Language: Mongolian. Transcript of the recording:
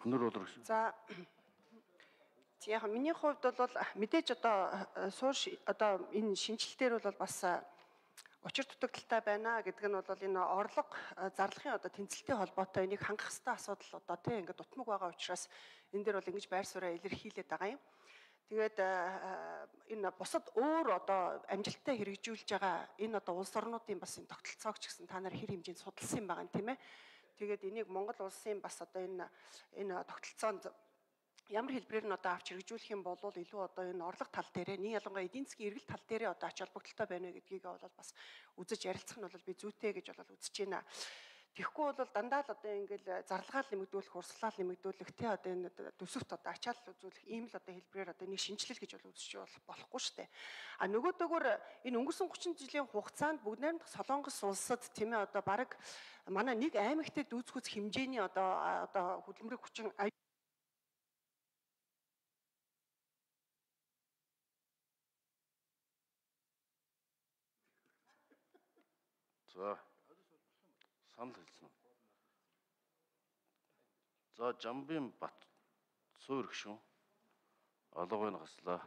Хүнөр болор гэсэн. За яг миний хувьд бол мэдээж одоо энэ шинжилтээр бол бас учир дутагдaltaй байна гэдэг нь бол энэ орлого зарлагын тэнцэлтэй холбоотой энийг хангах ёстой асуудал тийм ингээд дутмаг байгаа учраас энэ дээр бол ингэж байр сууриа илэрхийлээд байгаа юм. Тэгээд энэ бусад өөр амжилттай хэрэгжүүлж байгаа энэ улс орнуудын бас энэ тогтолцоог ч гэсэн та нар хэр хэмжээнд судалсан байгаа юм тийм ээ. Тэгээд энийг Монгол улсын бас энэ тогтолцоонд ямар хэлбэрээр нь авч хэрэгжүүлэх юм бол илүү энэ орлого тал дээрээ нэг ялангуяа эдийн засгийн эргэлт тал дээрээ ач холбогдолтой байна вэ гэдгийг бол бас үзэж ярилцах нь бол би зүйтэй гэж бол үзэж байна. Тэгэхгүй бол дандаа л ингээл зарлагаа нэмэгдүүлэх, урсгалаа нэмэгдүүлэх тий энэ төсөвт ачаал үзүүлэх ийм л хэлбэрээр нэг шинжилэл гэж бол үзэж болохгүй шүү дээ. А нөгөөдөөгөр энэ өнгөрсөн 30 жилийн хугацаанд бүгд найрамдах Солонгос улсад тийм ээ бараг манай нэг аймагтад дүүцгүүц хэмжээний хөдөлмөрийн хүчин За санал хэлсэн. За Жамбын Бат суур гүшүүн алгыг хаслаа.